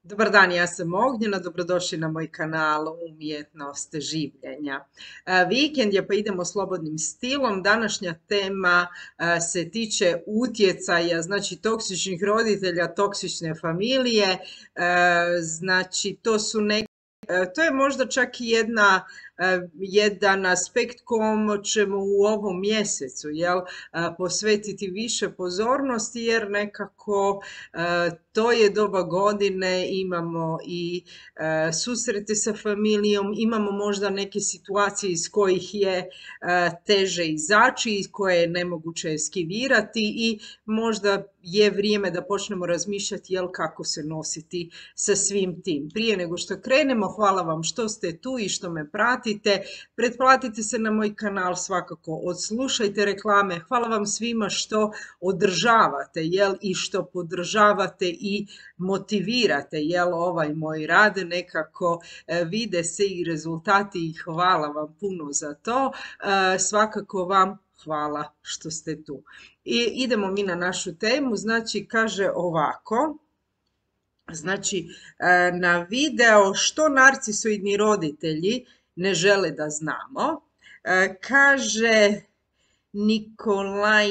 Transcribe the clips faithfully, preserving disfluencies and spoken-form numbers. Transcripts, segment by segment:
Dobar dan, ja sam Ognjena, dobrodošli na moj kanal Umjetnost življenja. E, Vikend je pa idemo slobodnim stilom. Današnja tema e, se tiče utjecaja, znači toksičnih roditelja, toksične familije. E, Znači to su neke, to je možda čak i jedna e, jedan aspekt kom ćemo u ovom mjesecu jel, e, posvetiti više pozornosti jer nekako e, to je doba godine, imamo i e, susrete sa familijom, imamo možda neke situacije iz kojih je e, teže izaći, iz koje je nemoguće eskivirati i možda je vrijeme da počnemo razmišljati jel kako se nositi sa svim tim. Prije nego što krenemo, hvala vam što ste tu i što me pratite. Pretplatite se na moj kanal svakako, odslušajte reklame. Hvala vam svima što održavate jel, i što podržavate i motivirate jel, ovaj moj rad. Nekako e, vide se i rezultati i hvala vam puno za to. E, svakako vam hvala što ste tu. I idemo mi na našu temu. Znači, kaže ovako. Znači, e, na video što narcisoidni roditelji ne žele da znamo, e, kaže Nikolaj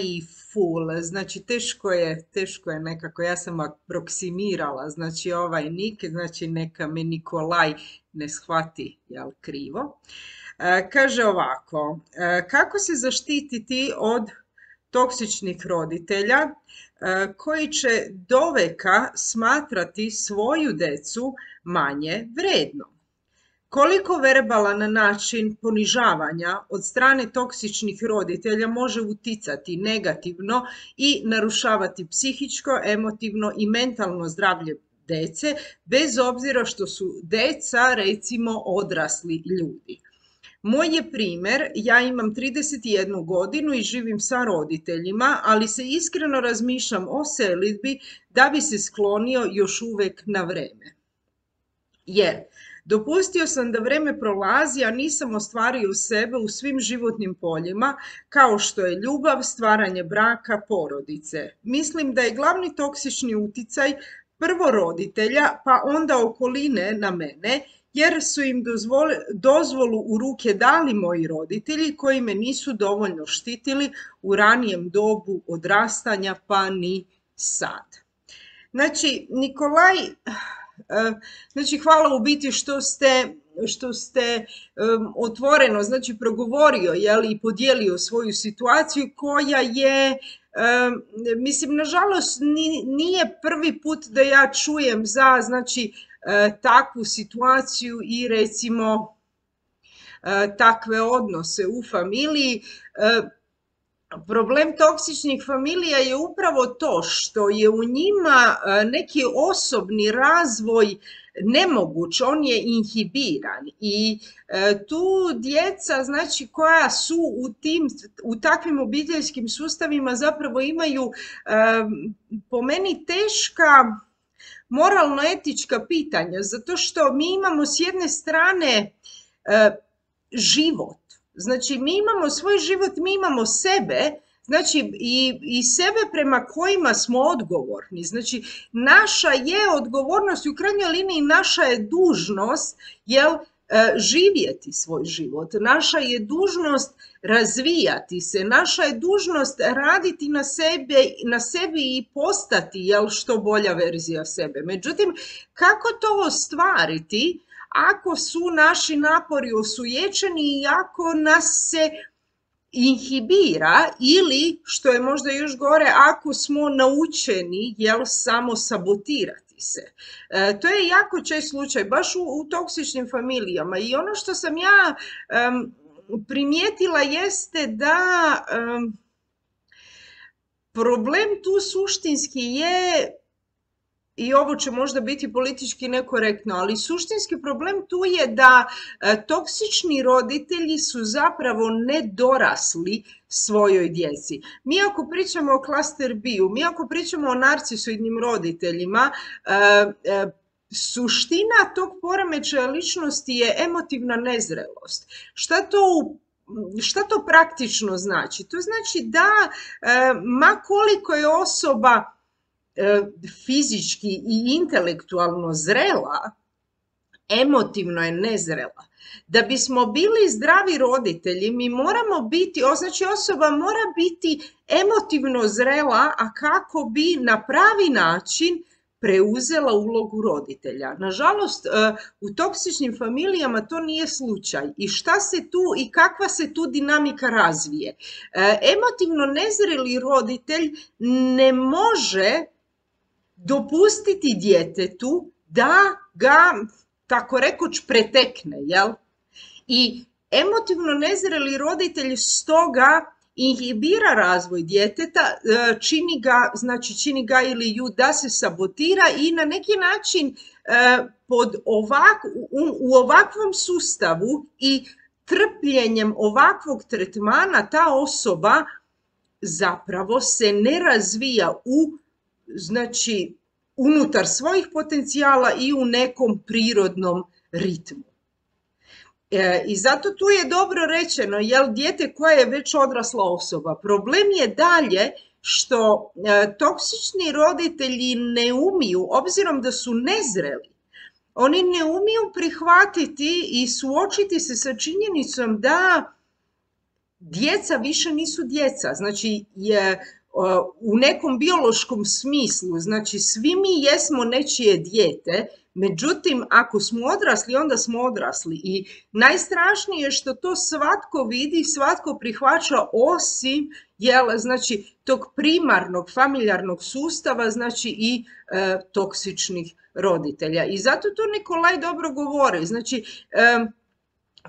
Ful, znači teško je, teško je nekako, ja sam aproksimirala, znači ovaj nik, znači neka me Nikolaj ne shvati, jel, krivo. E, kaže ovako, e, kako se zaštititi od toksičnih roditelja e, koji će doveka smatrati svoju decu manje vrednom? Koliko verbalan način ponižavanja od strane toksičnih roditelja može uticati negativno i narušavati psihičko, emotivno i mentalno zdravlje dece, bez obzira što su deca recimo odrasli ljudi? Moj je primjer, ja imam trideset jednu godinu i živim sa roditeljima, ali se iskreno razmišljam o selidbi da bi se sklonio još uvijek na vreme. Jer dopustio sam da vreme prolazi, a nisam ostvario sebe u svim životnim poljima, kao što je ljubav, stvaranje braka, porodice. Mislim da je glavni toksični uticaj prvo roditelja, pa onda okoline na mene, jer su im dozvoli, dozvolu u ruke dali moji roditelji koji me nisu dovoljno štitili u ranijem dobu odrastanja, pa ni sad. Znači, Nikolaj, znači hvala u biti što ste, što ste um, otvoreno, znači progovorio jeli, i podijelio svoju situaciju koja je, um, mislim, nažalost nije prvi put da ja čujem za, znači, takvu situaciju i recimo takve odnose u familiji. Problem toksičnih familija je upravo to što je u njima neki osobni razvoj nemoguć, on je inhibiran i tu djeca, znači, koja su u tim, u takvim obiteljskim sustavima zapravo imaju po meni teška moralno-etička pitanja, zato što mi imamo s jedne strane e, život, znači mi imamo svoj život, mi imamo sebe, znači i, i sebe prema kojima smo odgovorni, znači naša je odgovornost i u krajnjoj liniji naša je dužnost, jel, živjeti svoj život, naša je dužnost razvijati se, naša je dužnost raditi na sebe, na sebi i postati jel, što bolja verzija sebe. Međutim, kako to ostvariti ako su naši napori osujećeni i ako nas se inhibira ili, što je možda još gore, ako smo naučeni jel, samo sabotirati se. E, to je jako čest slučaj, baš u, u toksičnim familijama i ono što sam ja um, primijetila jeste da um, problem tu suštinski je, i ovo će možda biti politički nekorektno, ali suštinski problem tu je da e, toksični roditelji su zapravo nedorasli svojoj djeci. Mi ako pričamo o klaster B-u, mi ako pričamo o narcisoidnim roditeljima, e, e, suština tog poremećaja ličnosti je emotivna nezrelost. Šta to u Šta to praktično znači? To znači da, e, ma koliko je osoba fizički i intelektualno zrela, emotivno je nezrela. Da bismo bili zdravi roditelji, mi moramo biti, znači osoba mora biti emotivno zrela, a kako bi na pravi način preuzela ulogu roditelja. Nažalost, u toksičnim familijama to nije slučaj. I šta se tu i kakva se tu dinamika razvije? Emotivno nezreli roditelj ne može dopustiti djetetu da ga, tako rekoć, pretekne, jel? I emotivno nezreli roditelj stoga inhibira razvoj djeteta, čini ga, znači čini ga ili ju da se sabotira i na neki način pod ovak, u, u ovakvom sustavu i trpljenjem ovakvog tretmana ta osoba zapravo se ne razvija u, znači, unutar svojih potencijala i u nekom prirodnom ritmu. E, I zato tu je dobro rečeno, jel, dijete koje je već odrasla osoba. Problem je dalje što e, toksični roditelji ne umiju, obzirom da su nezreli, oni ne umiju prihvatiti i suočiti se sa činjenicom da djeca više nisu djeca. Znači, je, u nekom biološkom smislu, znači svi mi jesmo nečije dijete, međutim, ako smo odrasli, onda smo odrasli. I najstrašnije je što to svatko vidi, svatko prihvaća, osim, jel, znači, tog primarnog familijarnog sustava, znači i e, toksičnih roditelja. I zato to Nikolaj dobro govori. Znači, e,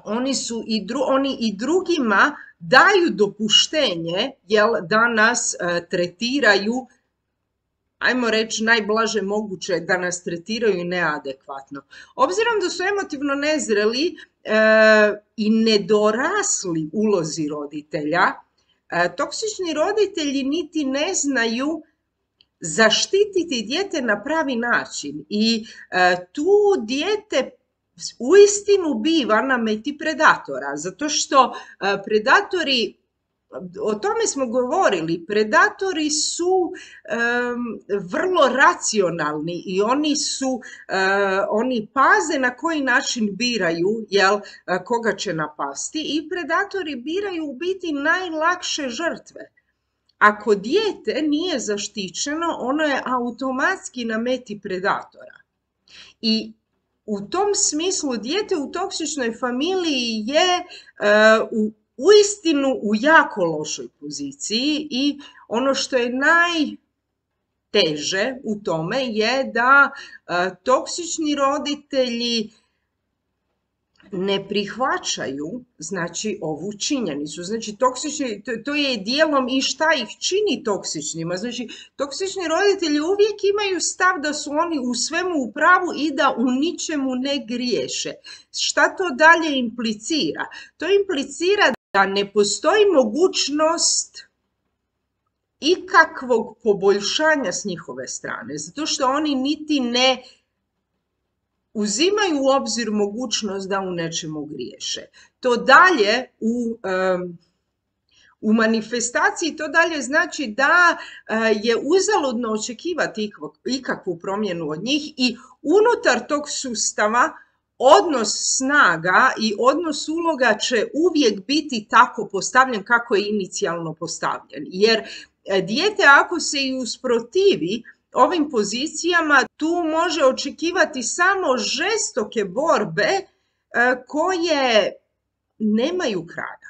oni su i, dru, oni i drugima daju dopuštenje, jel, da nas e, tretiraju, ajmo reći najblaže moguće, da nas tretiraju neadekvatno. Obzirom da su emotivno nezreli e, i nedorasli ulozi roditelja, e, toksični roditelji niti ne znaju zaštititi dijete na pravi način i e, tu dijete uistinu biva na meti predatora, zato što e, predatori, o tome smo govorili, predatori su um, vrlo racionalni i oni su, uh, oni paze na koji način biraju, jel, koga će napasti, i predatori biraju u biti najlakše žrtve. Ako dijete nije zaštićeno, ono je automatski na meti predatora. I u tom smislu dijete u toksičnoj familiji je uh, u uistinu u jako lošoj poziciji i ono što je najteže u tome je da a, toksični roditelji ne prihvaćaju, znači, ovu činjenicu. Znači, toksični, to, to je dijelom i šta ih čini toksičnima. Znači, toksični roditelji uvijek imaju stav da su oni u svemu u pravu i da u ničemu ne griješe. Šta to dalje implicira? To implicira da ne postoji mogućnost ikakvog poboljšanja s njihove strane, zato što oni niti ne uzimaju u obzir mogućnost da u nečemu griješe. To dalje u, um, u manifestaciji to dalje znači da uh, je uzaludno očekivati ikakvu promjenu od njih i unutar tog sustava odnos snaga i odnos uloga će uvijek biti tako postavljen kako je inicijalno postavljen. Jer dijete ako se i usprotivi ovim pozicijama, tu može očekivati samo žestoke borbe koje nemaju kraja.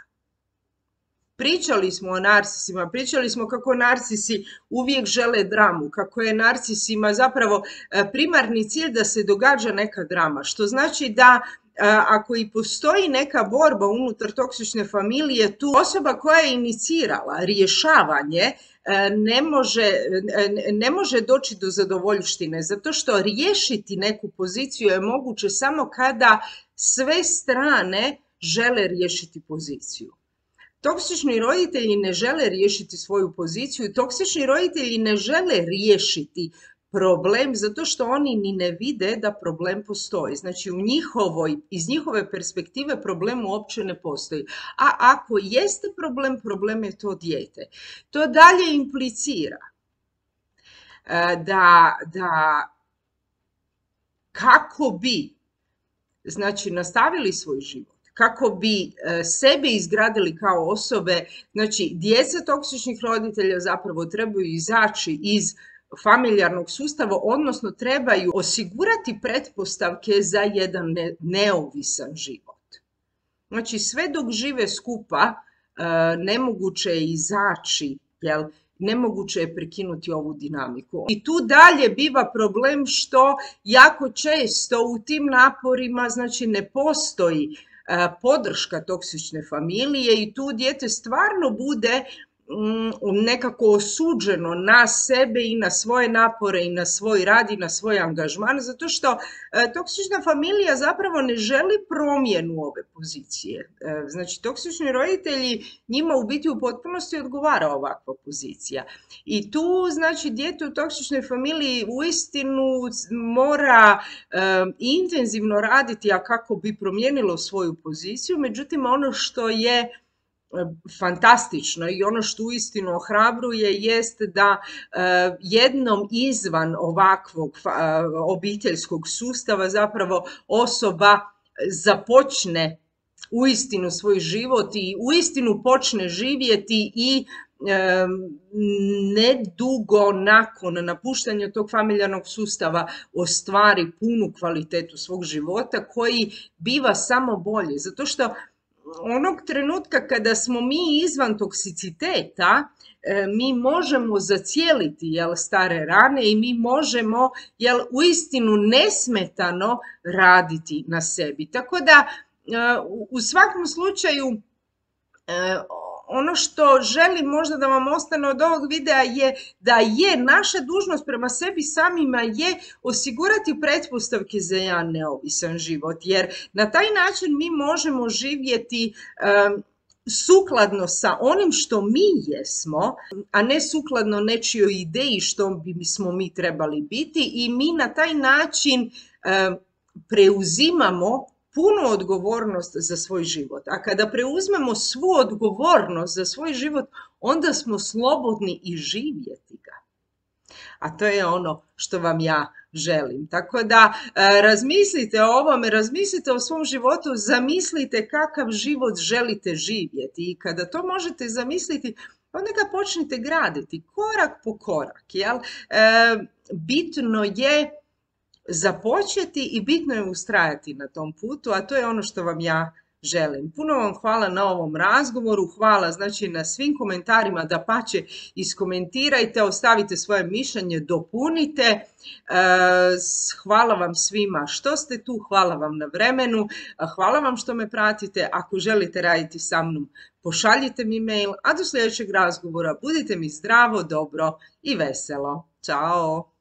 Pričali smo o narcisima, pričali smo kako narcisi uvijek žele dramu, kako je narcisima zapravo primarni cilj da se događa neka drama, što znači da ako i postoji neka borba unutar toksične familije, tu osoba koja je inicirala rješavanje ne može, ne može doći do zadovoljštine, zato što riješiti neku poziciju je moguće samo kada sve strane žele riješiti poziciju. Toksični roditelji ne žele riješiti svoju poziciju, toksični roditelji ne žele riješiti problem zato što oni ni ne vide da problem postoji. Znači, u njihovoj, iz njihove perspektive problem uopće ne postoji. A ako jeste problem, problem je to dijete. To dalje implicira da, da kako bi, znači, nastavili svoj život, kako bi sebe izgradili kao osobe, znači, djeca toksičnih roditelja zapravo trebaju izaći iz familijarnog sustava, odnosno trebaju osigurati pretpostavke za jedan ne, neovisan život. Znači, sve dok žive skupa, nemoguće je izaći, jel? Nemoguće je prekinuti ovu dinamiku. I tu dalje biva problem što jako često u tim naporima, znači, ne postoji podrška toksične familije i tu dijete stvarno bude nekako osuđeno na sebe i na svoje napore i na svoj rad i na svoj angažman, zato što e, toksična familija zapravo ne želi promjenu ove pozicije. E, znači, toksični roditelji, njima u biti u potpunosti odgovara ovakva pozicija. I tu, znači, dijete u toksičnoj familiji uistinu mora e, intenzivno raditi, a kako bi promijenilo svoju poziciju, međutim, ono što je fantastično i ono što uistinu ohrabruje jest da uh, jednom izvan ovakvog uh, obiteljskog sustava zapravo osoba započne uistinu svoj život i uistinu počne živjeti i um, nedugo nakon napuštanja tog familijarnog sustava ostvari punu kvalitetu svog života koji biva samo bolji, zato što onog trenutka kada smo mi izvan toksiciteta, mi možemo zacijeliti, jel, stare rane i mi možemo, jel, uistinu nesmetano raditi na sebi. Tako da u svakom slučaju ono što želim možda da vam ostane od ovog videa je da je naša dužnost prema sebi samima je osigurati pretpostavke za jedan neovisan život, jer na taj način mi možemo živjeti um, sukladno sa onim što mi jesmo, a ne sukladno nečijoj ideji što bismo mi trebali biti i mi na taj način um, preuzimamo punu odgovornost za svoj život. A kada preuzmemo svu odgovornost za svoj život, onda smo slobodni i živjeti ga. A to je ono što vam ja želim. Tako da e, razmislite o ovome, razmislite o svom životu, zamislite kakav život želite živjeti i kada to možete zamisliti, onda ga počnite graditi korak po korak. Jel? E, bitno je započeti i bitno je ustrajati na tom putu, a to je ono što vam ja želim. Puno vam hvala na ovom razgovoru, hvala znači na svim komentarima, dapače iskomentirajte, ostavite svoje mišljenje, dopunite. Hvala vam svima što ste tu, hvala vam na vremenu, hvala vam što me pratite. Ako želite raditi sa mnom, pošaljite mi mail, a do sljedećeg razgovora budite mi zdravo, dobro i veselo. Ćao!